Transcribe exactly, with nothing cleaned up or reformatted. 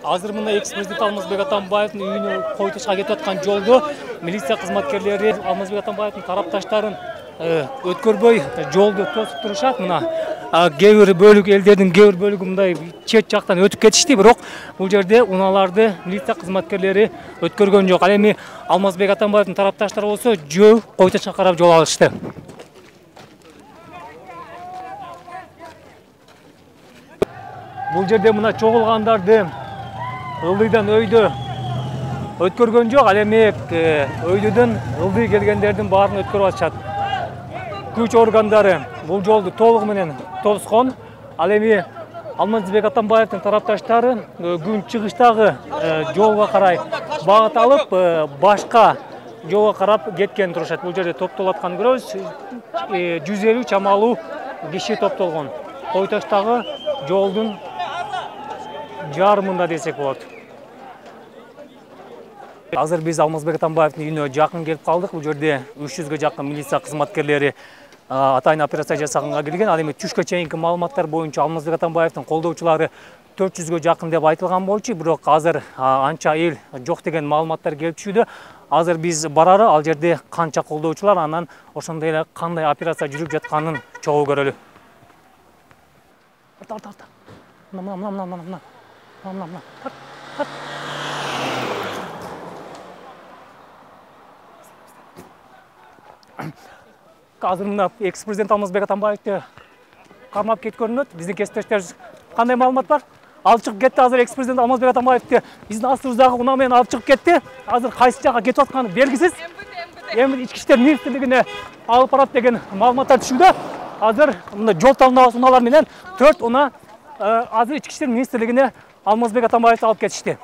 Азыр мына экс-президент Алмазбек Атамбаевдин үйүнө койтушка кетип аткан жолдо милиция кызматкерлери Алмазбек Атамбаевдин тарапташтарын өткөрбөй жолду тосуп турушат. Мына кээ бир бөлүк элдердин кээ бир бөлүгү мындай чет жактан өтүп кетишти, бирок бул жерде унааларды милиция кызматкерлери өткөргөн жок. Ал эми Алмазбек Атамбаевдин тарапташтары болсо жөө койтушка карап жол алышты. Бул жерде мына чогулгандарды ылдыйдан өйдө өткөргөн жок. Ал эми өйдөдөн ылдый келгендердин баарын өткөрүп атышат. Күч органдары бул жолду толугу менен тоскон. Ал эми Алмазбек Атамбаевдин тарапташтары күн чыгыштагы жолго карай багыт алып, башка жолго карап кеткен турушат. Бул жерде топтолуп атканын көрөбүз. жүз элүү чамалуу киши топтолгон. Койтоштагы жолдун жарымында десек болот. Азыр биз Алмазбек Атамбаевдин үйүнө жакын келип калдык. Бул жерде үч жүзгө жакын милиция кызматкерлери атайын операция жасаганга келген. Ал эми түшкө чейинки маалыматтар боюнча Алмазбек Атамбаевдин колдоочулары төрт жүзгө жакын деп айтылган болчу, бирок азыр анча эл жок деген маалыматтар келип түшүүдө. Азыр биз барары ал жерде канча колдоочулар, анан ошондой эле кандай операция жүрүп жатканын чогуу көрөлү. Арта, арта, арта. Мына, мына, мына, мына, мына. Мына, мына. Тарт, тарт. Азыр мына экс-президент Алмазбек Атамбаевди кармап кеткөнүнөт. Биздин кесиптештерибиз кандай маалымат бар? Алып чыгып кетти. Азыр экс-президент Алмазбек Атамбаевди биздин астыбыздагы унаа менен алып чыгып кетти. Азыр кайсы жакка кетип атканы белгисиз. Эми ички иштер министрлигине алып барат деген маалыматтар түшүүдө. Азыр мында жол тандабас унаалар менен төрт унаа азыр ички иштер министрлигине Алмазбек Атамбаевди алып кетишти.